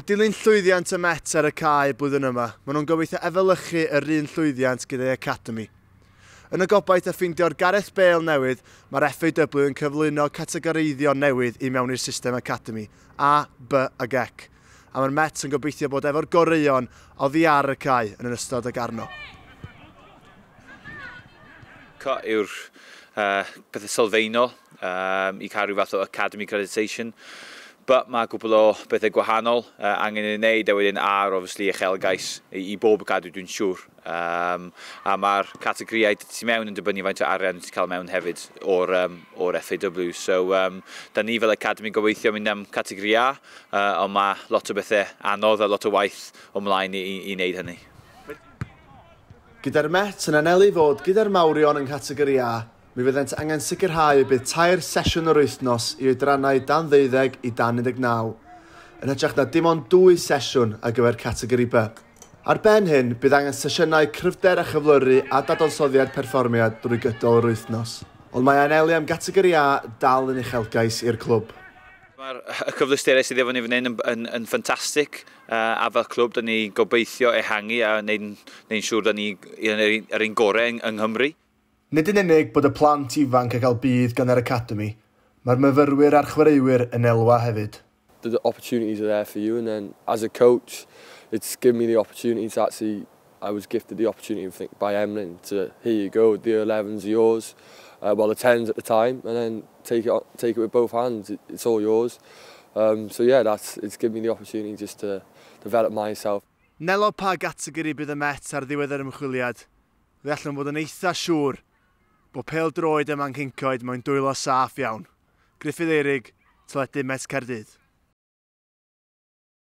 Dilyn llwyddiant y Met ar y cae blwyddyn yma, maen nhw'n gobeithio efelychu yr un llwyddiant gyda'i academi. Yn y gobaith o ffeindio'r Gareth Bale newydd, mae'r FAW yn cyflwyno categoreiddio newydd i mewn i'r system academi, A, B ag C. A mae'r Met yn gobeithio bod efo'r goreuon oddi ar y cae yn ystod ag arno. Cut yw'r pethau sylfaenol i cael rhyw fath o academy accreditation. But mae cwpl o bethau gwahanol angen ei wneud, a wedyn ar, obviously, uchelgais i bob academy, dwi'n siŵr. A mae'r categorïau tu mewn yn dibynnu faint o arian ti'n cael mewn hefyd o'r FAW. So, da ni fel academy gobeithio mynd am categori A, ond mae lot o bethau anodd a lot o waith ymlaen i wneud hynny. Gyda'r Met yn anelu fod gyda'r mawrion yng nghategori A, mi fyddent angen sicrhau y bydd 3 sesiwn yr wythnos i oedrannau dan 12 i dan 19, yn hytrach na dim ond 2 sesiwn ar gyfer categori B. Ar ben hyn, bydd angen sesiynau cryfder a chyflyru a dadansoddiad perfformiad drwy gydol yr wythnos. Ond mae anelu am gategori A dal yn uchelgais i'r clwb. Mae'r cyfleusterau sydd efo ni fan hyn yn ffantastig, a fel clwb da ni gobeithio ehangu a wneud siŵr da ni yr un gorau yng Nghymru. Nid yn unig bod y plant ifanc yn cael budd gan yr academi, mae'r myfyrwyr a'r chwaraewyr yn elwa hefyd. The opportunities are there for you, and then as a coach, it's given me the opportunity to actually, I was gifted the opportunity, I think, by Emlyn to, here you go, the 11s are yours, well the 10s at the time, and then take it with both hands, it's all yours. So yeah, it's given me the opportunity just to develop myself. Nelo pa gategori bydd y Met ar ddiwedd yr ymchwiliad, fe allwn fod yn eitha siŵr bod pêl-droed ym Mhancyncoed mewn dwylo saff iawn. Gruffydd Eirig, Teledu Met Caerdydd.